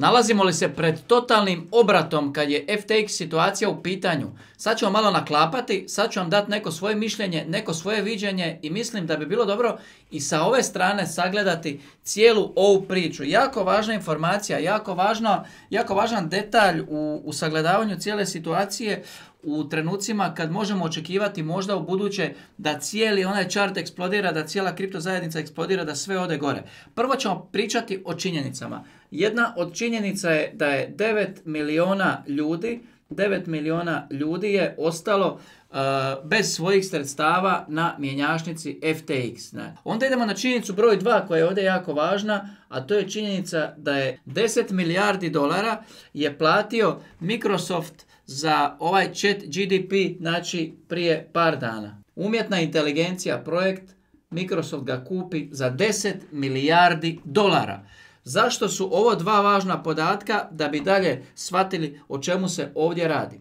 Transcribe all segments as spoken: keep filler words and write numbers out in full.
Nalazimo li se pred totalnim obratom kad je F T X situacija u pitanju? Sad ću vam malo naklapati, sad ću vam dati neko svoje mišljenje, neko svoje viđenje i mislim da bi bilo dobro i sa ove strane sagledati cijelu ovu priču. Jako važna informacija, jako, važno, jako važan detalj u, u sagledavanju cijele situacije u trenucima kad možemo očekivati možda u buduće da cijeli onaj chart eksplodira, da cijela kripto zajednica eksplodira, da sve ode gore. Prvo ćemo pričati o činjenicama. Jedna od činjenica je da je devet milijuna ljudi, devet milijuna ljudi je ostalo uh, bez svojih sredstava na mjenjačnici F T X. Ne? Onda idemo na činjenicu broj dva koja je ovdje jako važna, a to je činjenica da je deset milijardi dolara je platio Microsoft za ovaj chat G D P, znači prije par dana. Umjetna inteligencija projekt, Microsoft ga kupi za deset milijardi dolara. Zašto su ovo dva važna podatka da bi dalje shvatili o čemu se ovdje radi?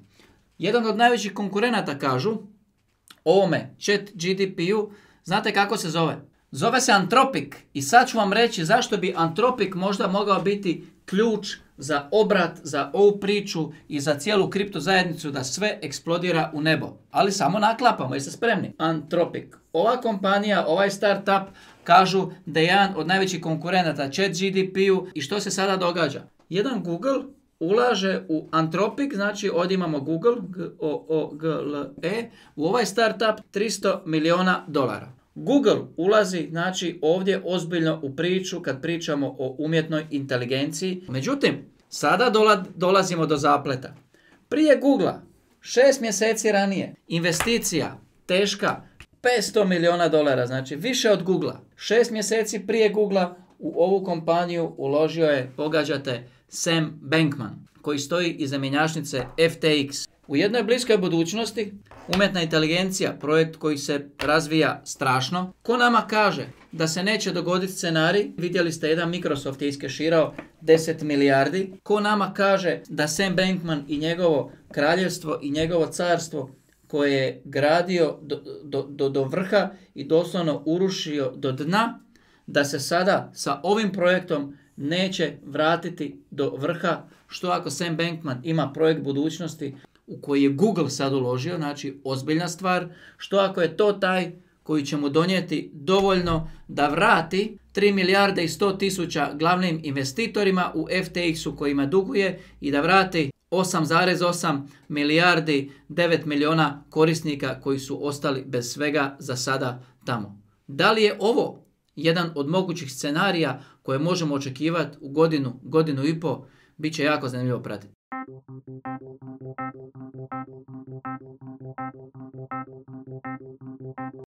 Jedan od najvećih konkurenata kažu ovome chat G D P-u, znate kako se zove? Zove se Anthropic i sad ću vam reći zašto bi Anthropic možda mogao biti ključ za obrat, za ovu priču i za cijelu kripto zajednicu da sve eksplodira u nebo. Ali samo naklapamo, jeste spremni? Anthropic. Ova kompanija, ovaj startup kažu da je jedan od najvećih konkurenata chat G D P-u i što se sada događa? Jedan Google ulaže u Anthropic, znači ovdje imamo Google, G O O G L E, u ovaj startup tristo milijuna dolara. Google ulazi, znači, ovdje ozbiljno u priču kad pričamo o umjetnoj inteligenciji. Međutim, sada dola, dolazimo do zapleta. Prije Googlea, šest mjeseci ranije, investicija teška petsto milijuna dolara, znači više od Googlea. Šest mjeseci prije Googlea u ovu kompaniju uložio je, pogađate, Sam Bankman, koji stoji iza mjenjačnice F T X. U jednoj bliskoj budućnosti, umjetna inteligencija, projekt koji se razvija strašno, ko nama kaže da se neće dogoditi scenarij, vidjeli ste jedan Microsoft je iskeširao deset milijardi, ko nama kaže da Sam Bankman i njegovo kraljevstvo i njegovo carstvo koje je gradio do, do, do, do vrha i doslovno urušio do dna, da se sada sa ovim projektom neće vratiti do vrha, što ako Sam Bankman ima projekt budućnosti u koji je Google sad uložio, znači ozbiljna stvar, što ako je to taj koji će mu donijeti dovoljno da vrati tri milijarde i sto tisuća glavnim investitorima u F T X-u kojima duguje i da vrati osam zarez osam milijardi devet milijuna korisnika koji su ostali bez svega za sada tamo. Da li je ovo jedan od mogućih scenarija koje možemo očekivati u godinu, godinu i po, bit će jako zanimljivo pratiti.